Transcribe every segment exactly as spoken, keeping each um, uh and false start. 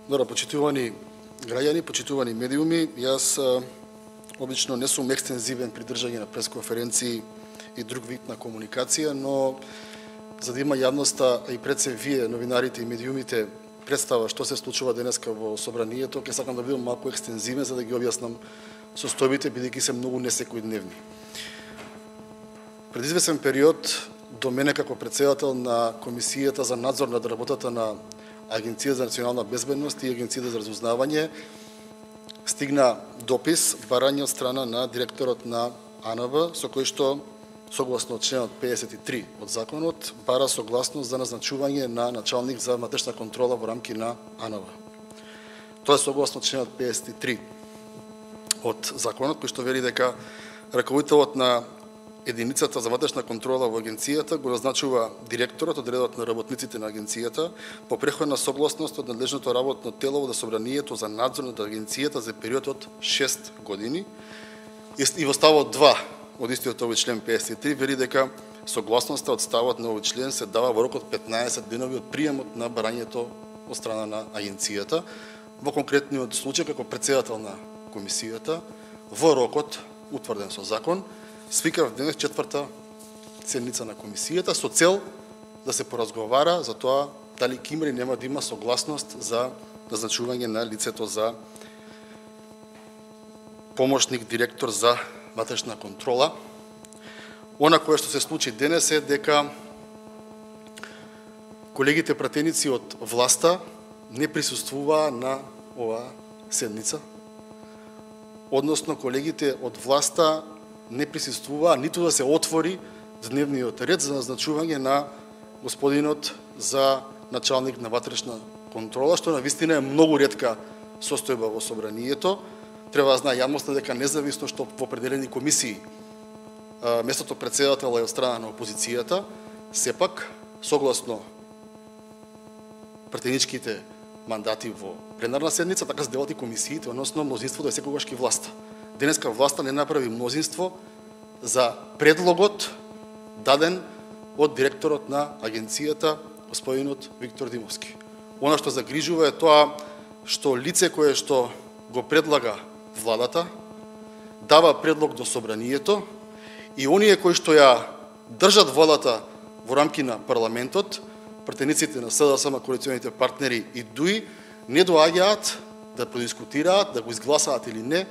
Добро, почитувани граѓани, почитувани медиуми, јас а, обично не сум екстензивен при држање на пресконференции и друг вид на комуникација, но за да има јавноста и пред се вие, новинарите и медиумите, представа што се случува денеска во собранието, ќе сакам да бидам малку екстензивен за да ги објаснам состојбите, бидејќи се многу несекојдневни. Пред извесен период до мене како претседател на Комисијата за надзор над работата на Агенција за национална безбедност и Агенцијата за разузнавање стигна допис, барање од страна на директорот на А Н Б, со кој што, согласно членот педесет и три од законот, бара согласност за назначување на началник за внатрешна контрола во рамки на А Н Б. Тоа е согласно членот педесет и три од законот, кој што вели дека раководителот на единицата за внатрешна контрола во агенцијата го назначува директорот од редот на работниците на агенцијата по преходна согласност од надлежното работно тело во собранието за надзор над агенцијата за период од шест години. И во ставот два од истиот овој член педесет и три вели дека согласноста од ставот на овој член се дава во рок од петнаесет денови од приемот на барањето од страна на агенцијата. Во конкретниот случај како претседател на комисијата во рокот утврден со закон свикав денес четврта седница на комисијата со цел да се поразговара за тоа дали ќе има или нема да има согласност за назначување на лицето за помошник директор за внатрешна контрола. Она кое што се случи денес е дека колегите пратеници од власта не присуствуваа на оваа седница. Односно, колегите од власта не присуствуваа ниту да се отвори дневниот ред за назначување на господинот за началник на внатрешна контрола, што навистина е многу ретка состојба во собранието. Треба да знае јавноста дека независно што во определени комисии местото претседател е од страна на опозицијата, сепак согласно претеничките мандати во пленарна седница, така се делат и комисиите, односно мнозинството е секогаш ки власта. Денеска власта не направи мнозинство за предлогот даден од директорот на агенцијата, господинот Виктор Димовски. Она што загрижува е тоа што лице кое што го предлага владата, дава предлог до собранието и оние кои што ја држат владата во рамки на парламентот, претениците на С Д С М, коалиционите партнери и Д У И, не доаѓаат да продискутираат, да го изгласаат или не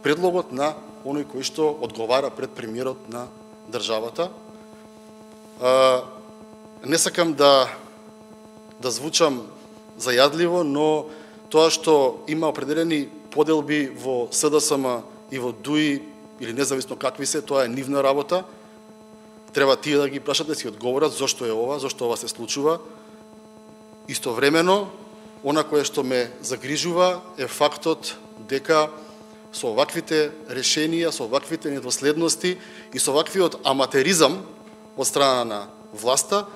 предлогот на оној кој што одговара пред премиерот на државата. Не сакам да да звучам зајадливо, но тоа што има определени поделби во С Д С М и во Д У И, или независно какви се, тоа е нивна работа. Треба тие да ги прашат да си одговорат зошто е ова, зошто ова се случува. Истовремено, она кое што ме загрижува е фактот дека со оваквите решенија, со оваквите недоследности и со оваквиот аматеризам од страна на власта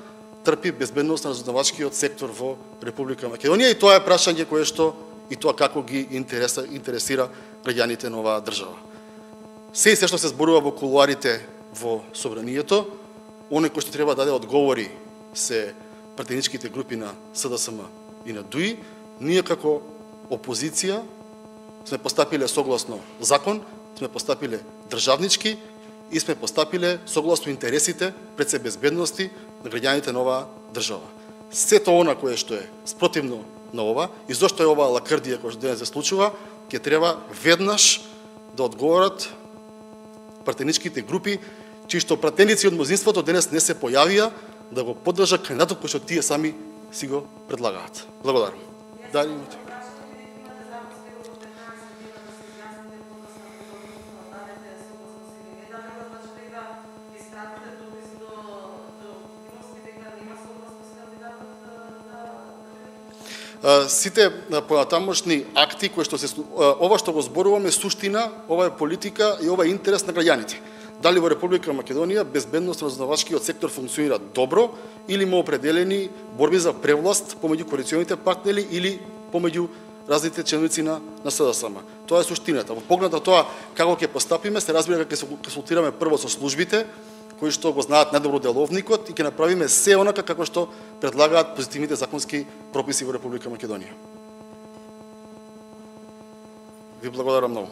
трпи безбедност на разузнавачкиот сектор во Република Македонија, и тоа е прашање кое што и тоа како ги интереса, интересира граѓаните на оваа држава. Се и се што се зборува во кулуарите во собранието, оној кој што треба да даде одговори се пратеничките групи на С Д С М и на Д У И. Ние како опозиција сме постапиле согласно закон, сме постапиле државнички и сме постапиле согласно интересите пред се безбедности на граѓаните на оваа држава. Сето она кое што е спротивно на ова и зошто е оваа лакрдија која што денес се случува, ќе треба веднаш да одговорат пратеничките групи, чии што пратеници од мнозинството денес не се појавија да го поддржат кандидатот кој што тие сами си го предлагаат. Благодарам. Дали имате? Сите понатамошни акти кои што се ова што го зборуваме суштина, ова е политика и ова е интерес на граѓаните. Дали во Република Македонија безбедност на разузнавачкиот сектор функционира добро или има определени борби за превласт помеѓу коалиционите партнери или помеѓу разните членоци на на С Д С М. Тоа е суштината. Во поглед на тоа како ќе постапиме, се разбира дека ќе се консултираме прво со службите кои што го знаат најдобро деловникот и ќе направиме се онака како што предлагаат позитивните законски прописи во Република Македонија. Ви благодарам многу.